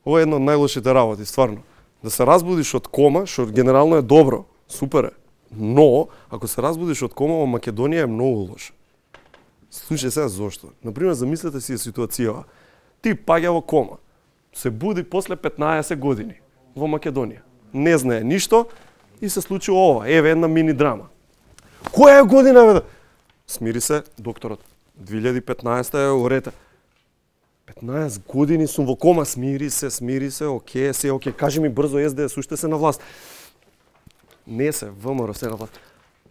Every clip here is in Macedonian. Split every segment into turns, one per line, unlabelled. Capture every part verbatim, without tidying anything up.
Ова е една од најлошите работи, стварно. Да се разбудиш од кома, што генерално е добро, супер е. Но, ако се разбудиш од кома во Македонија е многу лошо. Слушај сега зошто. Например, замислете си ситуацијава. Ти паѓа во кома, се буди после петнаесет години во Македонија. Не знае ништо и се случи ова. Еве една мини драма. Која е година, бе? Смири се, докторот. две илјади и петнаесета е урете. петнаесет години сум во кома, смири се, смири се, оке, се, оке, кажи ми брзо ес де ес, уште се на власт. Не се, ВМРО се на власт.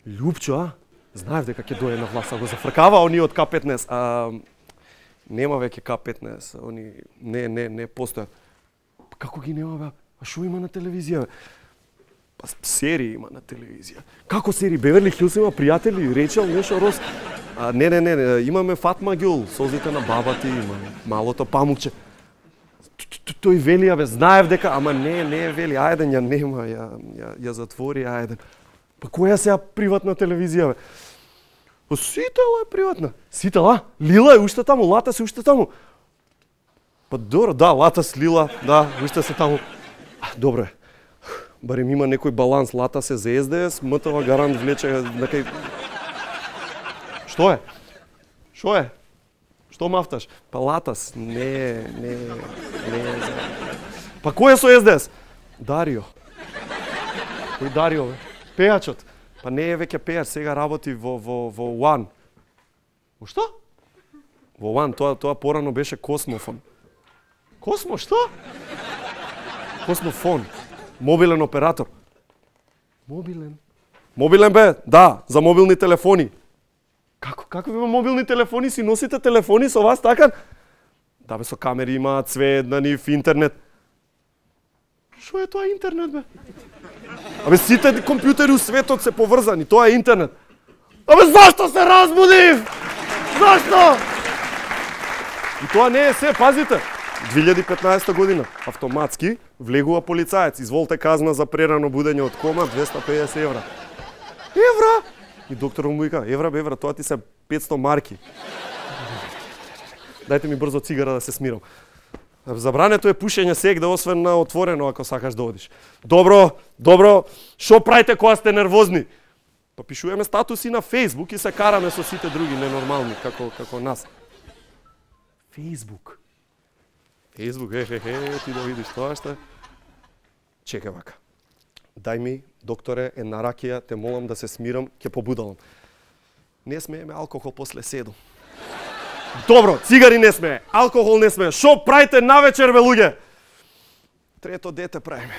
Лјупчо, а? Знаев дека ќе дојде на власт, а го зафркава они од К петнаесет. А, нема веќе К петнаесет, они не, не, не постојат. Како ги нема, бе? А шо има на телевизија, бе? Па серии има на телевизија. Како серии? Беверли Хилс има пријатели, Речел, нешто Рос. А, не, не, не, не, имаме Фатма Гюл, Солзите на баба ти, има Малото памукче. Тој вели, бе, знаев дека, ама не, не вели, ајден ја нема, ја, ја, ја затвори, ајден. Па која сега приватна телевизија, бе? Па Сител е приватна. Сител, а? Лила е уште таму, Лата се уште таму. Па добро, да, Лата с Лила, да, уште се таму. Добро е. Барем има некој баланс, Лата се за ес де ес, МТВ Гарант влече некај... Што е? Што е? Што мафташ? Па Латас, не, не, не... Па кој е со ес де ес? Дарио. Кој Дарио, бе? Пејачот. Па не е веќе пејач, сега работи во, во, во One. Во што? Во One, тоа, тоа порано беше Космофон. Космо, што? Космофон. Мобилен оператор. Мобилен? Мобилен бе, да, за мобилни телефони. Како, како има мобилни телефони, си носите телефони со вас, така? Да бе, со камери има, цвет на нив, интернет. Шо е тоа интернет, бе? Абе, сите компјутери у светот се поврзани, тоа е интернет. Абе, зашто се разбудив? Зашто? И тоа не е се, пазите. две илјади и петнаесета година, автоматски, влегува полицаец, изволте казна за прерано будење од кома, двеста и педесет евра. Евра? И докторот му вика, евра, евра, тоа ти се петсто марки. Дајте ми брзо цигара да се смирам. Забрането е пушење сегде, освен на отворено, ако сакаш да одиш. Добро, добро, шо правите кога сте нервозни? Па пишуваме статуси на Фейсбук и се караме со сите други ненормални, како, како нас. Фейсбук. Фейсбук, е, е, е, ти да видиш тоа што е. Чекај вака. Дај ми, докторе, една ракија, те молам да се смирам, ќе побудалам. Не смееме алкохол после седум. Добро, цигари не смее, алкохол не смее. Шо правите навечер, бе, луѓе? Трето дете правиме.